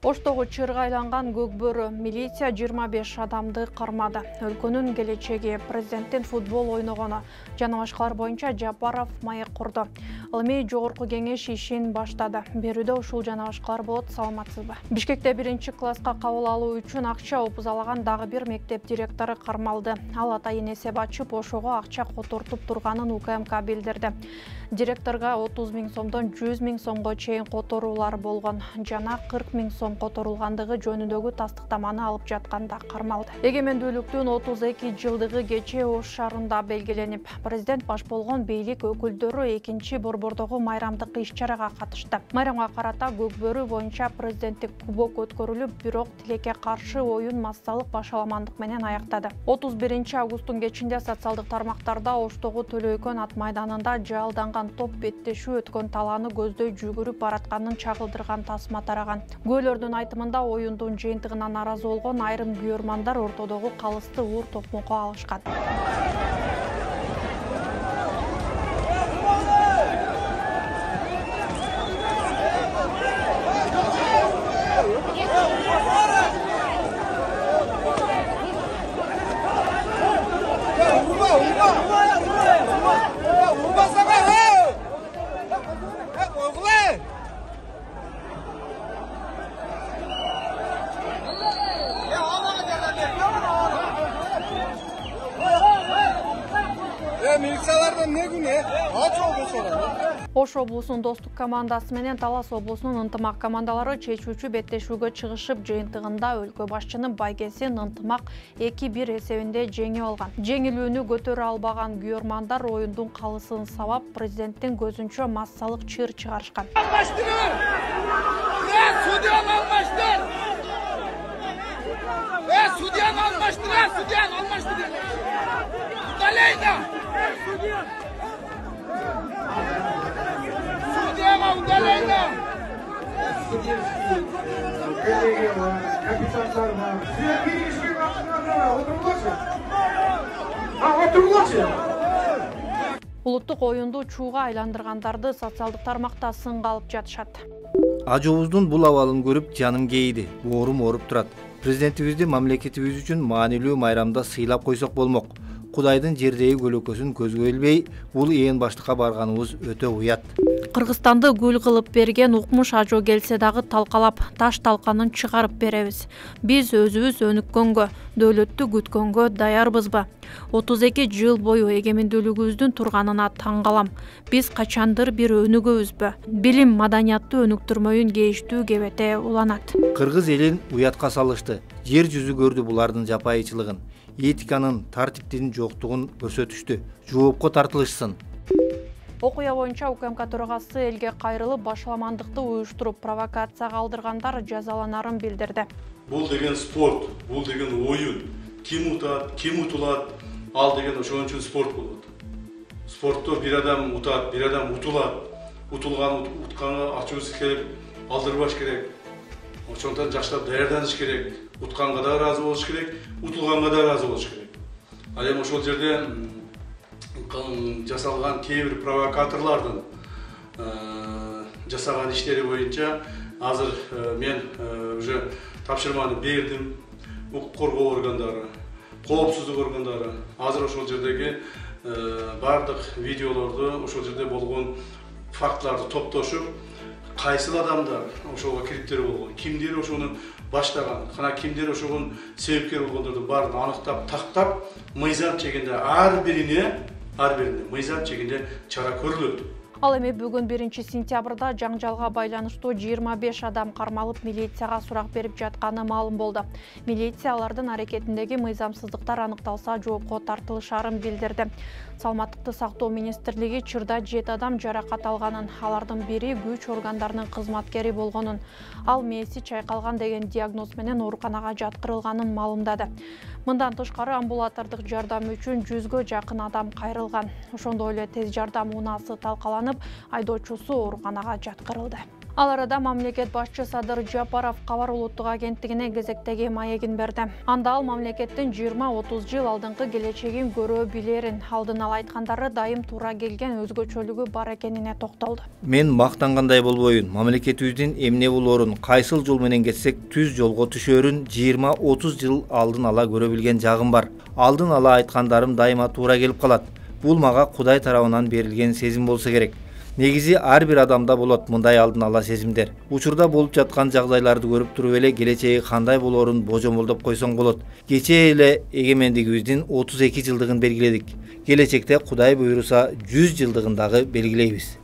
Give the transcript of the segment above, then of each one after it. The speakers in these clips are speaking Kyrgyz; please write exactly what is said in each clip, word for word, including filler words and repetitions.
Оштогу чырга айланган Көкбөрү милиция жыйырма беш адамды кармады. Өлкөнүн келечеги, президенттин футбол ойногону жана башкалар боюнча Жапаров маек курду. Ылмый жогорку кеңеш ишин баштады. Берүүдө ушул жана башкалар болот, саламатсызбы? Бишкекте биринчи класска кабыл алуу үчүн акча опузалаган дагы бир мектеп директору кармалды. Ал атайын эсеп ачып, ошого акча котортуп турганын У К М К билдирди. Директорго отуз миң сомдон жүз миң сомго чейин которуулар болгон жана кырк миң сом которулгандыгы жөнүндөгү тастыктаманы алып жатканда кармалды. Эгемендүүлүктүн отуз эки жылдыгы кечээ Ош шаарында белгиленип, президент баш болгон бийлик өкүлдөрү экинчи борбордогу майрамдык иш-чарага катышты. Майрамга карата Көкбөрү боюнча президенттик кубок өткөрүлүп, бирок тилекке каршы оюн массалык башаламандык менен аяктады. отуз биринчи августтун кечинде социалдык тармактарда Оштогу Төлөйкөн ат майданында жаалданган топ беттешүү өткөн талааны көздөй жүгүрүп баратканын чагылдырган тасма тараган. Күбөлөрдүн айтымында оюндун жыйынтыгына нааразы болгон айрым күйөрмандар ортодогу калысты уур токмокко алышкан. Милициялардан не күнү? Ач облусунун. Ош облусунун Достук командасы менен Талас облусунун Ынтымак командалары чечүүчү беттешүүгө чыгышып, жыйынтыгында өлкө башчынын байгесин Ынтымак эки бир эсебинде жеңип алган. Жеңилүүнү көтөрө албаган күйөрмандар оюндун калысын сабап, президенттин көзүнчө массалык чыр чыгарышкан. Алмаштырың! Э, судьяны алмаштыр! Э, судьяны алмаштыр! Судьяны алмаштыр! Удалейна! Судьяга удалейна! Капитандар бар. Силер киришке катышыңар, отургулачы. А, отургулачы. Улуттук оюнду чууга айландыргандарды социалдык тармакта сынга алып жатышат. Ажыбыздын бул абалын көрүп жаным кейди, оорум ооруп турат. Президентибизди мамлекетибиз үчүн маанилүү майрамда сыйлап койсок болмок. Кудайдын жердеги көлөкөсүн көзгө илбей, бул ээн баштыкка барганыбыз өтө уят. Кыргызстанды гүл кылып берген Укмуш Ажо келсе дагы талкалап, таш талканын чыгарып беребиз. Биз өзүбүз өнүккөнгө, дөөлөттү күткөнгө даярбызбы? отуз эки жыл бою эгемендүүлүгүбүздүн турганына таң калам. Биз качандыр бир өнүгөбүзбү? Билим, маданияттуу өнүктүрмөйүн кейиштүү кебете уланат. Кыргыз элин уятка салышты. Жер жүзү көрдү булардын жапайычылыгын. Этиканын, тартиптин жоктугун көрсөтүштү. Жоопко тартылышсын. Окуя боюнча У К М К төрагасы элге кайрылып, башаламандыкты уюштуруп, провокацияга алдыргандар жазаланарын билдирди. Бул деген спорт, бул деген оюн. Ким утат, ким утулат, ал деген ошон үчүн спорт болот. Спортто бир адам утат, бир адам утулат. Утулган утканга ачуусу келип, алдырбаш керек. Ошондон жаштап даярданыш керек. Утканга да ыраазы болуш керек, утулганга да ыраазы болуш керек. Ал эми ошол жерде жасалган кээ бир провокаторлордун жасаган иштери боюнча азыр мен уже тапшырманы бердим. Укук коргоо органдары, коопсуздук органдары азыр ошол жердеги бардык видеолорду, ошол жерде болгон фактыларды топтошуп, кайсыл адамдар ошого кириптер болгон, кимдер ошону баштаган, кана кимдер ошого себепкер болгондорду баарын аныктап, тактап, мыйзам чегинде ар бирине, ар бирине мыйзам чегинде чара көрүлөт. Ал эми бүгүн биринчи сентябрда жаңжалга байланыштуу жыйырма беш адам кармалып, милицияга сурак берип жатканы маалым болду. Милиция алардын аракетиндеги мыйзамсыздыктар аныкталса жоопко тартылышарын билдирди. Саламаттыкты сактоо министрлиги Чырда жети адам жаракат алганын, алардын бири күч органдарынын кызматкери болгонун, ал мээси чайкалган деген диагноз менен ооруканага жаткырылганын маалымдады. Мындан тышкары амбулатордук жардам үчүн жүзгө жакын адам кайрылган. Ошондой эле тез жардам унаасы талкаланып, айдоочусу ооруканага жаткырылды. Ал арада мамлекет башчы Садыр Жапаров Кабар улуттук агенттигине кезектеги маегин берди. Анда ал мамлекеттин жыйырма отуз жыл алдыңкы келечегин көрө билерин, алдын ала айткандары дайым туура келген өзгөчөлүгү бар экенине токтолду. Мен мактангандай болбойюн, мамлекетибиздин эмне болоорун, кайсыл жол менен кетсек түз жолго түшөрүн жыйырма отуз жыл алдын ала көрө билген жагым бар. Алдын ала айткандарым дайыма туура келип калат. Бул мага Кудай тарабынан берилген сезим болсо керек. Негизи ар бир адамда болот мындай алдын ала сезимдер. Учурда болуп жаткан жагдайларды көрүп туруп эле келечеги кандай болоорун божомолдоп койсоң болот. Кечээ эле эгемендигибиздин отуз эки жылдыгын белгиледик. Келечекте Кудай буйруса жүз жылдыгын дагы белгилейбиз.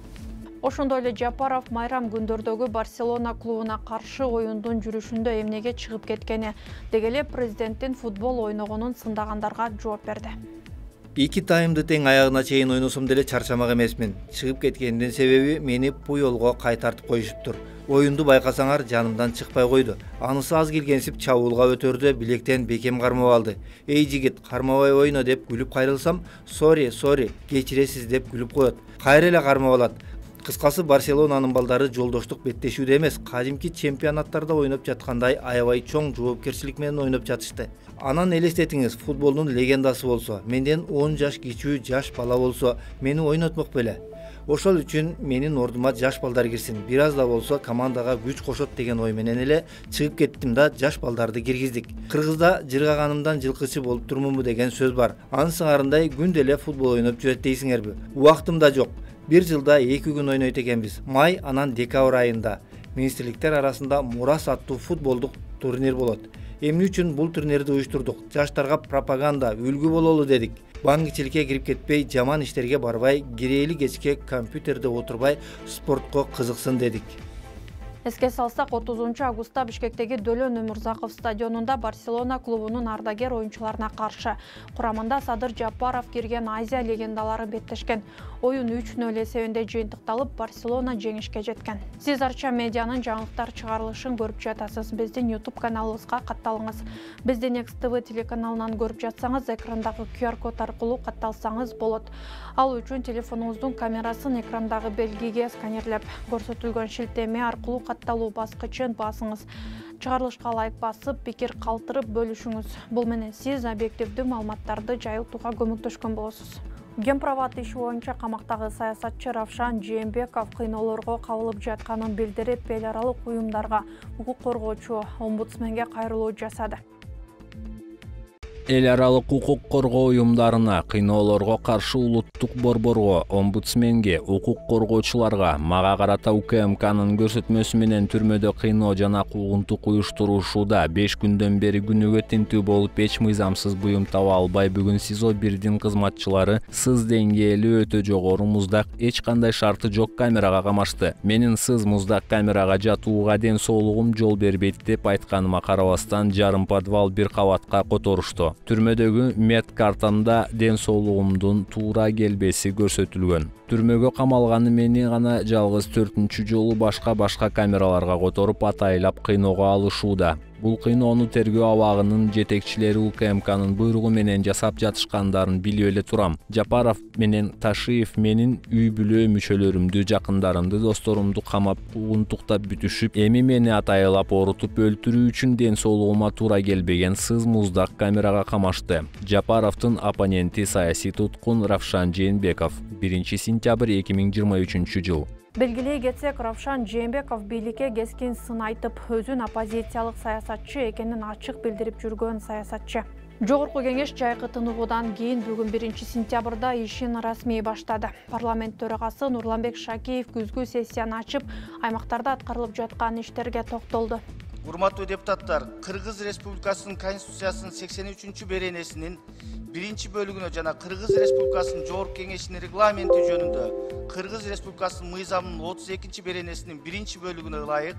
Ошондой эле Жапаров майрам күндөрдөгү Барселона клубуна каршы оюндун жүрүшүндө эмнеге чыгып кеткени, деги эле президенттин футбол ойногонун сындагандарга жооп берди. Эки таймды тең аягына чейин ойносом деле чарчамак эмесмин. Чыгып кеткендин себеби мени Пуйолго кайтартып коюшуптур. Оюнду байкасаңар жанымдан чыкпай койду. Анысы аз келгенсип чабуулга өтөрдү, билектен бекем кармап алды. Эй жигит, кармабай ойно деп күлүп кайрылсам, "Сори, сори, кечиресиз" деп күлүп коет. Кайра эле кармап алат. Кыскасы Барселонанын балдары жолдоштук беттешүүдө эмес, кадимки чемпионаттарда ойноп жаткандай аябай чоң жоопкерчилик менен ойноп жатышты. Анан элестетиңиз, футболдун легендасы болсо, менден он жаш кичүү жаш бала болсо, мени ойнотмок беле. Ошол үчүн менин ордума жаш балдар кирсин, бир аз да болсо командага күч кошот деген ой менен эле чыгып кеттим да жаш балдарды киргиздик. Кыргызда жыргаганымдан жылкычы болуп турмунбу деген сөз бар. Анын сыңарындай күндө эле футбол ойноп жүрөт дейсиңерби? Убактым да жок. Бир жылда эки күн ойнойт экенбиз. Май анан декабрь айында министрликтер арасында Мурас аттуу футболдук турнир болот. Эмне үчүн бул турнирди уюштурдук? Жаштарга пропаганда, үлгү бололу дедик. Баңгичиликке кирип кетпей, жаман иштерге барбай, кирээли кечке компьютерде отурбай, спортко кызыксын дедик. Эске салсак, отузунчу августта Бишкектеги Дөлөн Өмүрзаков стадионунда Барселона клубунун ардагер оюнчуларына каршы курамында Садыр Жапаров кирген Азия легендалары беттешкен. Оюн үч нөл эсебинде жыйынтыкталып, Барселона жеңишке жеткен. Сиз Арча медианын жаңылыктар чыгарылышын көрүп жатасыз. Биздин YouTube каналыбызга катталыңыз. Биздин Next T V телеканалынан көрүп жатсаңыз, экрандагы Q R код аркылуу катталсаңыз болот. Ал үчүн телефонуңуздун камерасын экрандагы белгиге сканерлеп, көрсөтүлгөн шилтеме аркылуу катталуу баскычын басыңыз. Чыгарылышка лайк басып, пикир калтырып бөлүшүңүз. Бул менен сиз объективдүү маалыматтарды жайылтууга көмөктөшкөн болосуз. Гемпроват иши боюнча камактагы саясатчы Равшан Жээнбеков кыйноолорго кабылып жатканын билдирип, эл аралык уюмдарга, укук коргоочу омбудсменге кайрылуу жасады. Эл аралык укук коргоо уюмдарына, кыйноолорго каршы улуттук борборго, омбудсменге, укук коргоочуларга, мага карата У К М К'нын көрсөтмөсү менен түрмөдө кыйноо жана куугунтук уюштуруушууда беш күндөн бери күнүгө тинтүү болуп эч мыйзамсыз буюм таба албай, бүгүн СИЗО бирдин кызматчылары сыз деңгээли өтө жогору муздак, эч кандай шарты жок камерага камашты. Менин сыз муздак камерага жатууга ден соолугум жол бербейт деп айтканыма карабастан, жарым подвал бир кабатка которушту. Түрмөдөгү мед картамда ден соолугумдун туура келбеси көрсөтүлгөн. Түрмөгө камалганы мени гана жалгыз төртүнчү жолу башка-башка камераларга которуп атайлап кыйноого алышууда. Бул кыйноону тергөө абагынын жетекчилери У К М К'нын буйругу менен жасап жатышкандарын билип эле турам. Жапаров менен Ташиев менин үй бүлө мүчөлөрүмдү, жакындарымды, досторумду камап, куугунтуктап бүтүшүп, эми мени атайлап орутуп өлтүрүү үчүн ден соолугума туура келбеген сыз муздак камерага камашты. Жапаровдун оппоненти саясий туткун Равшан Жээнбеков, биринчи сентябрь эки миң жыйырма үчүнчү жыл. Белгилей кетсек, Равшан Жээнбеков бийликке кескин сын айтып, өзүн оппозициялык саясатчы экенин ачык билдирип жүргөн саясатчы. Жогорку кеңеш жайкы тыныгуудан кийин бүгүн биринчи сентябрда ишин расмий баштады. Парламент төрагасы Нурланбек Шакиев күзгү сессияны ачып, аймактарда аткарылып жаткан иштерге токтолду. Урматтуу депутаттар, Кыргыз Республикасынын Конституциясынын сексен үчүнчү беренесинин биринчи бөлүгүнө жана Кыргыз Республикасынын Жогорку Кеңешинин регламенти жөнүндө Кыргыз Республикасынын мыйзамынын отуз экинчи беренесинин биринчи бөлүгүнө ылайык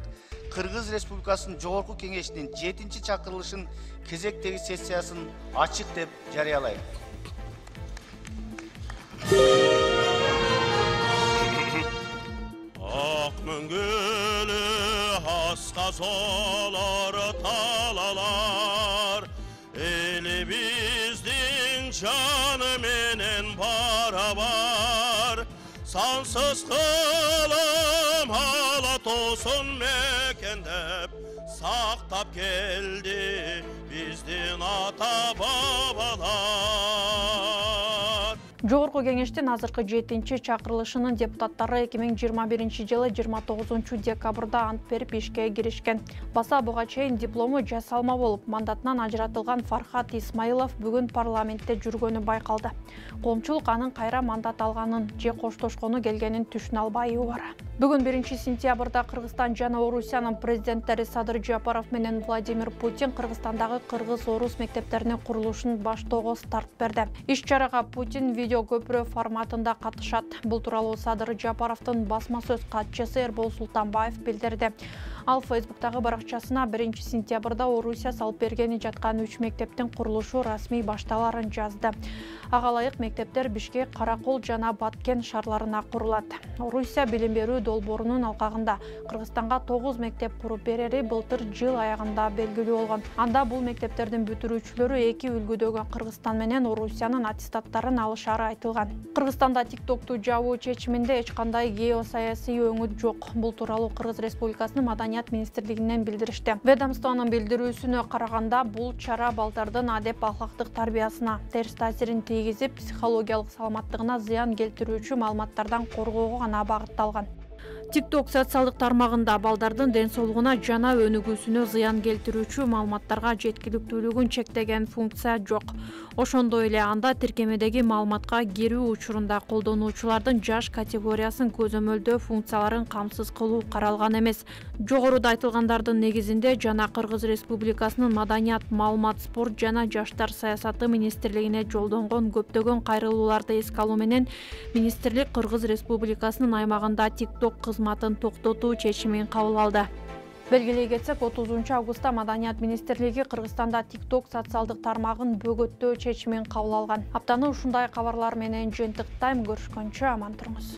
Кыргыз Республикасынын Жогорку Кеңешинин жетинчи чакырылышын кезектеги сессиясын ачык деп жарыялайм. Ак мөңгөлү аска солор талалар, элибиздин жаны менен барабар, сансыз кылым ала тоосун мекендеп сактап келди биздин ата бабалар. Жогорку кеңештин азыркы жетинчи чакырылышынын депутаттары эки миң жыйырма биринчи жылы жыйырма тогузунчу декабрда ант берип ишке киришкен. Баса буга чейин диплому жасалма болуп, мандатынан ажыратылган Фархат Исмаилов бүгүн парламентте жүргөнү байкалды. Коомчулук анын кайра мандат алганын же коштошкону келгенин түшүнө албай бар. Бүгүн биринчи сентябрда Кыргызстан жана Орусиянын президенттери Садыр Жапаров менен Владимир Путин Кыргызстандагы кыргыз-орус мектептеринин курулушун баштоого старт берди. Иш-чарага Путин видео көпүрө форматында катышат. Бул тууралуу Садыр Жапаровдун басма сөз катчысы Эрбол Султанбаев билдирди. Ал Фейсбуктагы баракчасына биринчи сентябрда Орусия салып бергени жаткан үч мектептин курулушу расмий башталарын жазды. Ага ылайык мектептер Бишкек, Каракол жана Баткен шаарларына курулат. Орусия билим берүү долбоорунун алкагында Кыргызстанга тогуз мектеп куруп берери былтыр жыл аягында белгилүү болгон. Анда бул мектептердин бүтүрүүчүлөрү эки үлгүдөгү Кыргызстан менен Орусиянын аттестаттарын алышары айтылган. Кыргызстанда тиктокту жабуу чечиминде эч кандай геосаясий өңүт жок. Бул тууралуу Кыргыз Республикасынын Маданият министрлигинен билдиришти. Ведомствонун билдирүүсүнө караганда, бул чара балдардын адеп ахлактык тарбиясына терс таасирин тийгизип, психологиялык саламаттыгына зыян келтирүүчү маалыматтардан коргоого гана багытталган. TikTok социалдык тармагында балдардын ден соолугуна жана өнүгүүсүнө зыян келтирүүчү маалыматтарга жеткиликтүүлүгүн чектеген функция жок. Ошондой эле анда тиркемедеги маалыматка кирүү учурунда колдонуучулардын жаш категориясын көзөмөлдөө функцияларын камсыз кылуу каралган эмес. Жогоруда айтылгандардын негизинде жана Кыргыз Республикасынын Маданият, маалымат, спорт жана жаштар саясаты министрлигине жолдонгон көптөгөн кайрылууларды эске алуу менен министрлик Кыргыз Республикасынын аймагында TikTok кызматын токтотуу чечимин кабыл алды. Белгилей кетсек, отузунчу августта Маданият министрлиги Кыргызстанда TikTok социалдык тармагын бөгөттөө чечимин кабыл алган. Аптаны ушундай кабарлар менен жыйынтыктайм. Көрүшкөнчө аман туруңуз.